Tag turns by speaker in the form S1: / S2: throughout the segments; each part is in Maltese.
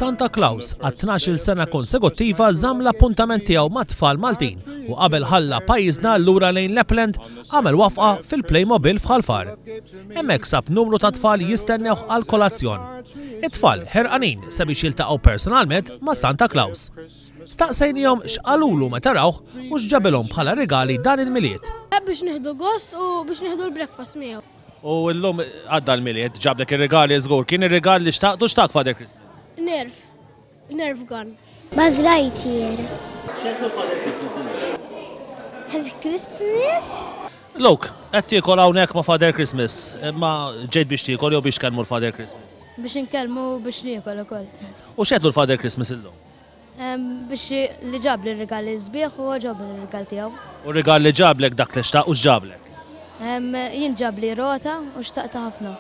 S1: Santa Claus għat-tnax-il sena konsekuttiva żamm l-appuntament tiegħu mat-tfal Maltin u qabel ħalla pajjiżna lura lejn Lapland għamel wafqa fil-Playmobil f'Ħal Far. Hemmhekk sab numru ta' tfal jistennewh għall-kolazzjon. It-tfal ħerqanin sabiex jiltaqgħu personalment ma' Santa Claus. Staqsejnihom x'qalulu meta rawh u x'ġabilhom bħala rigali dan il-Milied.
S2: Biex nieħdu gost u biex nieħdu l-breakfast miegħu.
S1: U llum għadda l-Milied, ġablek ir-rigali żgur. Kien ir-rigal li xtaqt u x'tak Father Christmas?
S2: Nerf. Nerf gun.
S3: Buzz Lightyear.
S1: X'għedtlu Father Christmas illum?
S3: Happy Christmas.
S1: Luke, qed tiekol hawnhekk ma' Father Christmas, imma ġejt biex tiekol jew biex tkellmu l-Father Christmas?
S4: Biex inkellmu u biex niekol ukoll.
S1: U x'għedtlu l-Father Christmas illum?
S4: Biex li ġabli r-rigali sbieħ u għoġobni r-rigal tiegħu.
S1: U r-rigal li ġablek dak li xtaq u x'ġablek?
S4: Jien ġabli rota u xtaqtha ħafna.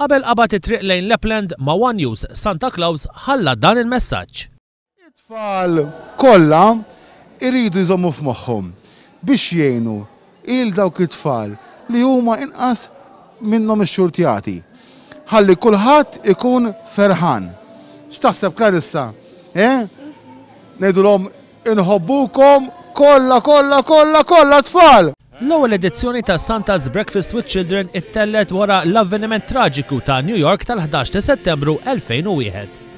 S1: Qabel qabad it-triq lejn Lapland ma' one News Santa Claus ħalla dan il-messaġġ.
S5: It-tfal kollha jridu jżommu f'moħħhom biex jgħinu 'il dawk it-tfal li huma inqas minnhom ixxurtjati. Ħalli kulħadd ikun ferħan. X'taħseb Clarissa? Eh? Ngħidulhom inħobbukom kollha kollha kollha kollha tfal!
S1: L-ewwel edizzjoni ta' Santa's Breakfast with Children ittellgħet wara l-avveniment traġiku ta' New York tal-11 ta' Settembru 2001.